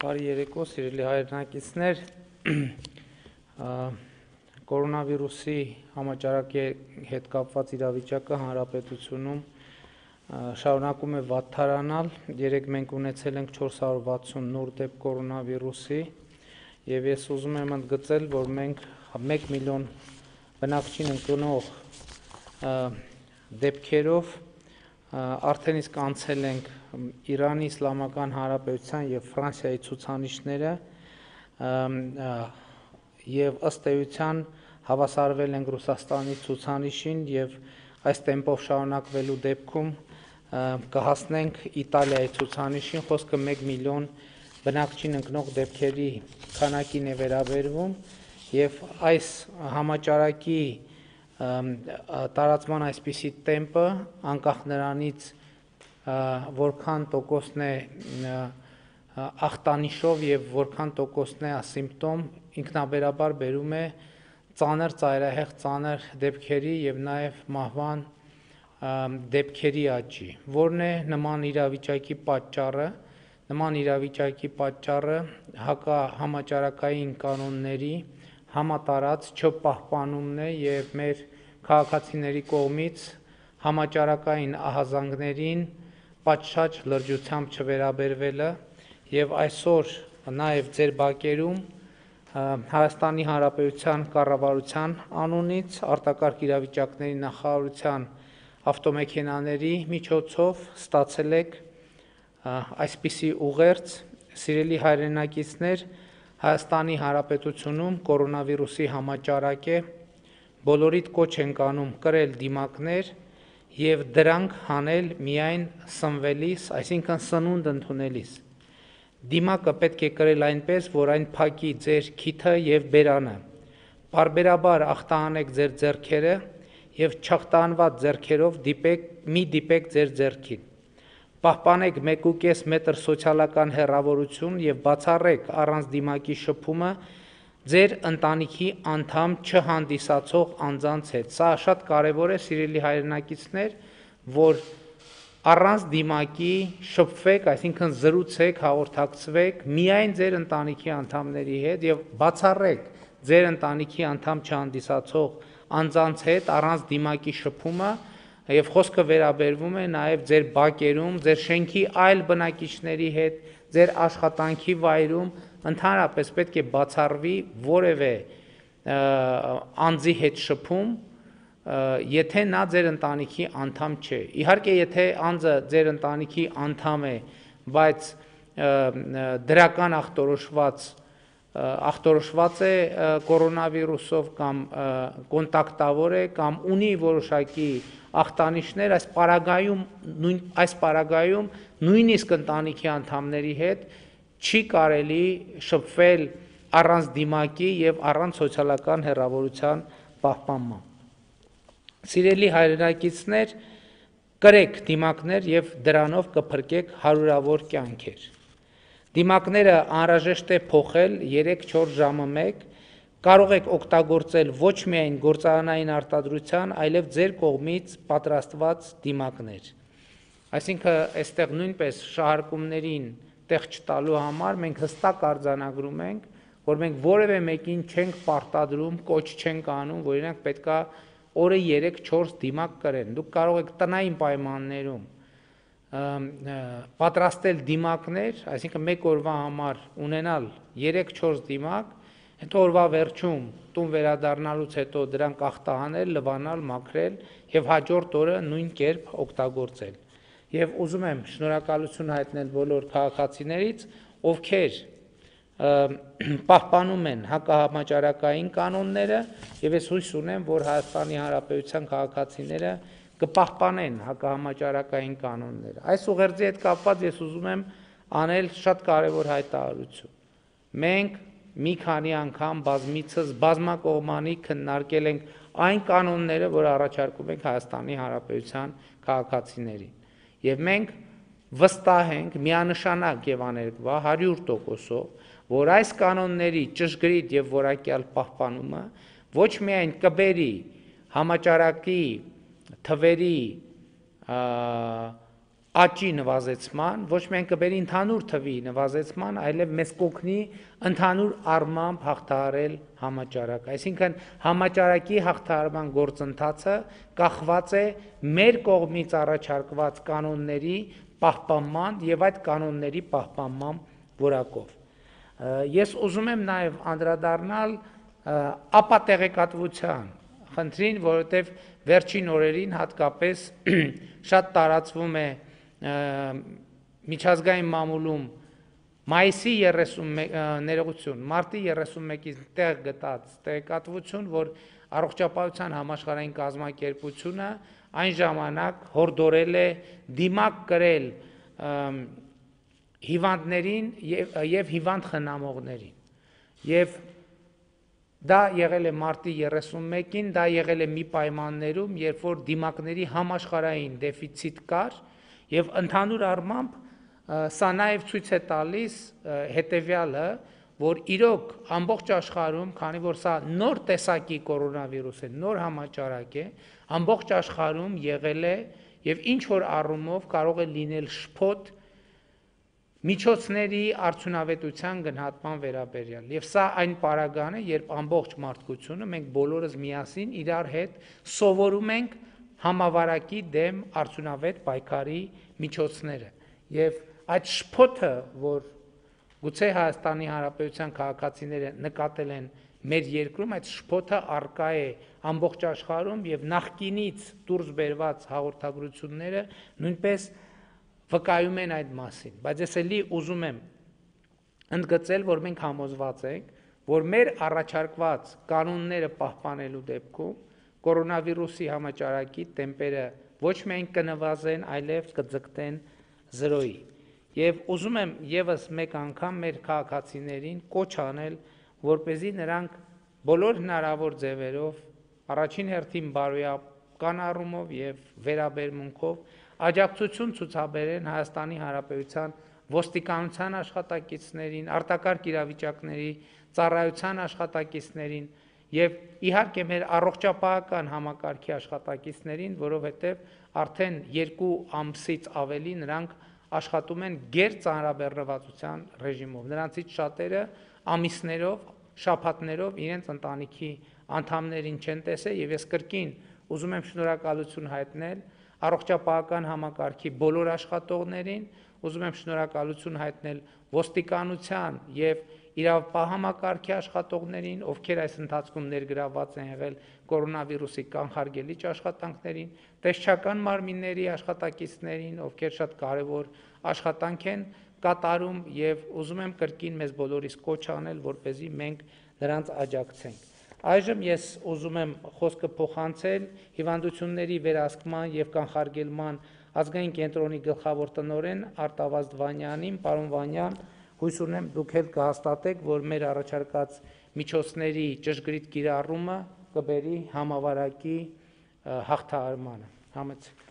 Բարի երեկո, սիրելի հայրենակիցներ, կորոնավիրուսի համաճարակի հետ կապված իրավիճակը հանրապետությունում շարունակում է վատթարանալ, երեկ մենք ունեցել ենք 460 նոր դեպք կորոնավիրուսի և ես ուզում եմ ընդգծել, որ մենք 1 միլիոն բնակչին ընկնող դեպքերով արդեն իսկ անցել ենք Իրանի Իսլամական Հանրապետության և Ֆրանսիայի ցուցանիշները և ըստ էության հավասարվել ենք Ռուսաստանի ցուցանիշին և այս տեմպով շարունակվելու դեպքում կհասնենք Իտալիայի ցուցանիշին, խոսքը 1 միլիոն բնակչին ընկնող դեպքերի քանակին է վերաբերվում և այս համաճարակի տարածման այսպիսի տեմպը անկախ նրանից որքան տոկոսն է ախտանիշով և որքան տոկոսն է ասիմպտոմ ինքնաբերաբար բերում է ծանր ծայրահեղ ծանր դեպքերի և նաև մահվան դեպքերի աճի, որն է նման իրավիճակի պատճառը, նման իրավիճակի պատճառը հակահամաճարակային կանոնների համատարած չպահպանումն է և մեր քաղաքացիների կողմից համաճարակային ահազանգներին պատշաճ լրջությամբ չվերաբերվելը և այսօր նաև ձեր բակերում Հայաստանի Հանրապետության կառավարության անունից արտակարգ իրավիճակների նախարարության ավտոմեքենաների միջոցով ստացել եք այսպիսի ուղերձ. սիրելի հայրենակիցներ, Հայաստանի Հանրապետությունում կորոնավիրուսի համաճարակ է, բոլորիդ կոչ ենք անում կրել դիմակներ և դրանք հանել միայն սնվելիս, այսինքն սնունդ ընդունելիս։ Դիմակը պետք է կրել այնպես, որ այն փակի ձեր քիթը և բերանը։ Պարբերաբար ախտահանեք ձեր ձեռքերը և չախտահանված ձեռքերով մի դիպեք ձեր ձեռքին։ Պահպանեք 1,5 մետր սոցիալական հեռավորություն և բացառեք առանց դիմակի շփումը ձեր ընտանիքի անդամ չհանդիսացող անձանց հետ։ Սա շատ կարևոր է, սիրելի հայրենակիցներ, որ առանց դիմակի շփվեք, այսինքն զրուցեք, հաղորդակցվեք միայն ձեր ընտանիքի անդամների հետ և բացառեք ձեր ընտանիքի անդամ չհանդիսացող անձանց հետ առանց դիմակի շփումը և խոսքը վերաբերվում է նաև ձեր բակերում, ձեր շենքի այլ բնակիչների հետ, ձեր աշխատանքի վայրում, ընդհանրապես պետք է բացառվի որևէ անձի հետ շփում, եթե նա ձեր ընտանիքի անդամ չէ։ Իհարկե, եթե անձը ձեր ընտանիքի անդամ է, բայց դրական ախտորոշված է կորոնավիրուսով կամ կոնտակտավոր է կամ ունի որոշակի ախտանիշներ, այս պարագայում նույնիսկ ընտանիքի անդամների հետ չի կարելի շփվել առանց դիմակի և առանց սոցիալական հեռավորության պահպանման։ Սիրելի հայրենակիցներ, կրեք դիմակներ և դրանով կփրկեք հարյուրավոր կյանքեր։ Դիմակները անհրաժեշտ է փոխել 3-4 ժամը մեկ, կարող եք օգտագործել ոչ միայն գործարանային արտադրության, այլև ձեր կողմից պատրաստված դիմակներ։ Այսինքն, այստեղ նույնպես շահարկումներին տեղ չտալու համար մենք հստակ արձանագրում ենք, որ մենք որևէ մեկին չենք պարտադրում, կոչ չենք անում, որ իրենք պետքա օրը 3-4 դիմակ կրեն։ Դուք կարող եք տնային պայմաններում պատրաստել դիմակներ, այսինքն մեկ օրվա համար ունենալ 3-4 դիմակ, հետո օրվա վերջում տուն վերադառնալուց հետո դրանք ախտահանել, լվանալ, մաքրել և հաջորդ օրը նույն կերպ օգտագործել։ Եվ ուզում եմ շնորհակալություն հայտնել բոլոր քաղաքացիներից, ովքեր պահպանում են հակահամաճարակային կանոնները և ես հույս ունեմ, որ Հայաստանի Հանրապետության քաղաքացիները կպահպանեն հակահամաճարակային կանոնները։ Այս ուղերձի հետ կապված ես ուզում եմ անել շատ կարևոր հայտարարություն։ Մենք մի քանի անգամ բազմիցս բազմակողմանի քննարկել ենք այն կանոնները, որ առաջարկում ենք Հայաստանի Հանրապետության քաղաքացիներին։ Եվ մենք վստահ ենք միանշանակ և աներկբա 100%-ով, որ այս կանոնների ճշգրիտ և որակյալ պահպանումը ոչ միայն կբերի համաճարակի թվերի աճի նվազեցման, ոչ միայն կբերի ընդհանուր թվի նվազեցման, այլև մեզ կօգնի ընդհանուր առմամբ հաղթահարել համաճարակը։ Այսինքն համաճարակի հաղթահարման գործընթացը կախված է մեր կողմից առաջարկված կանոնների պահպանման եւ այդ կանոնների պահպանման որակով։ Ես ուզում եմ նաեւ անդրադառնալ ապատեղեկատվության խնդրին, որովհետեւ վերջին օրերին հատկապես շատ տարածվում է միջազգային մամուլում մայիսի 31 ներողություն, մարտի 31-ից տեղ գտած տեղեկատվություն, որ առողջապահության համաշխարհային կազմակերպությունը այն ժամանակ հորդորել է դիմակ կրել հիվանդներին եւ հիվանդ խնամողներին։ Եվ դա եղել է մարտի 31-ին, դա եղել է մի պայմաններում, երբ որ դիմակների համաշխարհային դեֆիցիտ կար եւ ընդհանուր առմամբ սա նաեւ ցույց է տալիս հետեւյալը, որ իրոք ամբողջ աշխարհում, քանի որ սա նոր տեսակի կորոնավիրուս է, նոր համաճարակ է, ամբողջ աշխարհում եղել է եւ ինչ որ առումով կարող է լինել շփոթ միջոցների արդյունավետության գնահատման վերաբերյալ։ Եվ սա այն պարագան է, երբ ամբողջ մարդկությունը մենք բոլորս միասին իրար հետ սովորում ենք համավարակի դեմ արդյունավետ պայքարի միջոցները։ Եվ այդ շփոթը, որ գուցե Հայաստանի Հանրապետության քաղաքացիները նկատել են մեր երկրում, այդ շփոթը արկա է ամբողջ աշխարհում եւ նախկինից դուրս բերված հաղորդագրությունները նույնպես վկայում են այդ մասին, բայց ես էլի ուզում եմ ընդգծել, որ մենք համոզված ենք, որ մեր առաջարկված կանոնները պահպանելու դեպքում կորոնավիրուսի համաճարակի տեմպերը ոչ միայն կնվազեն, այլև կձգտեն 0-ի։ Եվ ուզում եմ եւս մեկ անգամ մեր քաղաքացիներին կոչ անել, որպեսզի նրանք բոլոր հնարավոր ձևերով առաջին հերթին բարոյական առումով եւ վերաբերմունքով աջակցություն ցուցաբերեն Հայաստանի Հանրապետության ոստիկանության աշխատակիցներին, արտակարգ իրավիճակների ծառայության աշխատակիցներին եւ իհարկե մեր առողջապահական համակարգի աշխատակիցներին, որովհետեւ արդեն 2 ամսից ավելի նրանք աշխատում են գերծանրաբեռնվածության ռեժիմով։ Նրանցից շատերը ամիսներով, շաբաթներով իրենց ընտանիքի անդամներին չեն տեսել եւ ես կրկին ուզում եմ շնորհակալություն հայտնել առողջապահական համակարգի բոլոր աշխատողներին, ուզում եմ շնորհակալություն հայտնել ոստիկանության եւ իրավապահ համակարգի աշխատողներին, ովքեր այս ընթացքում ներգրավված են եղել կորոնավիրուսի կանխարգելիչ աշխատանքներին, տեսչական մարմինների աշխատակիցներին, ովքեր շատ կարևոր աշխատանք են կատարում եւ ուզում եմ կրկին մեզ բոլորիս կոչ անել, որպեսզի մենք նրանց աջակցենք։ Այժմ ես ուզում եմ խոսքը փոխանցել հիվանդությունների վերահսկման եւ կանխարգելման ազգային կենտրոնի գլխավոր տնօրեն Արտավազդ Վանյանին, պարոն Վանյան, հույս ունեմ դուք էլ կհաստատեք, որ մեր առաջարկած միջոցների ճշգրիտ կիրառումը կբերի համավարակի հաղթահարմանը։ Համեցեք։